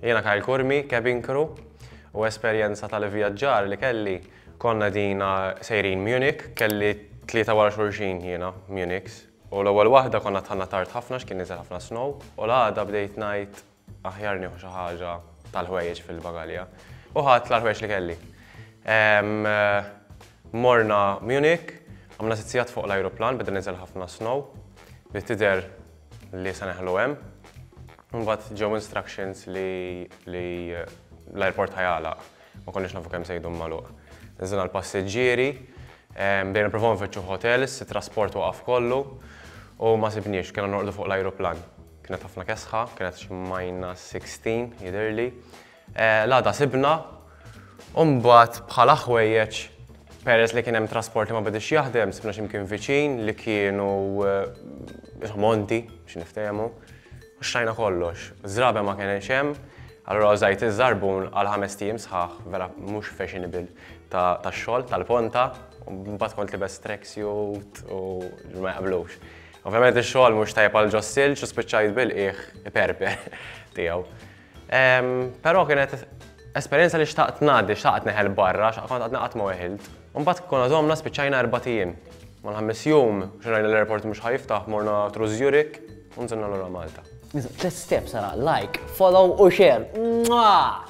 Jiena Kyle Curmi, cabin crew, u esperjenza tal-ivvjaġġar li kelli konna dina sejrin Munich, kelli tlieta wara xulxin jiena Munichs. U l-ewwel waħda konna dħalna tard ħafna x'kien niżel ħafna snow, u l-għada bdejt ngħid aħjar nieħu xi ħaġa tal-ħwejjeġ fil-bagalja. U ħadt l-ħwejjeġ li kelli. Morna Munich, għamna sitt sigħat fuq l-ajruplan, beda niżel ħafna snow, bdiet tidher li se neħlu hemm. Mbagħad ġew instructions li l-airport ħa jagħlaq. Ma konniex nafu kemm se jdum magħluq. Niżilna l-passiġġieri, bdejna nippruvaw nfittxu hotels, it-trasport waqaf kollu u ma sibniex, kellna norqdu fuq l-ajruplan. Kienet ħafna kesħa, kienet xi minus 16 jidhirli. L-għada sibna u mbagħad bħala ħwejjeġ peress li kien hemm trasport li ma bediex jaħdem, sibna xi mkien viċin li kienu monti biex niftehmu. U xtrajna kollox. Żraben ma kienx hemm, allura użajt iż-żarbun għal ħamest ijiem sħaħ, vera mhux fashionable tax-xogħol, tal-ponta, u mbagħad kont libes tracksuit u ma jaqblux. Ovvjament ix-xogħol mhux tajjeb għal ġos-silġ u spiċċajt bil-qiegħ iperper tiegħu. Però kienet esperjenza li xtaqt ngħaddi, xtaqt neħel barra, xtaqt kont għadni qatt ma weħilt. U mbagħad konna domna spiċċajna erbat ijiem. Mal-ħames jum, xi rajna l-airport mhux ħa jiftaħ, morna through Zurich u nżilna lura Malta. Tlet steps ara, like, follow u share. Mwah!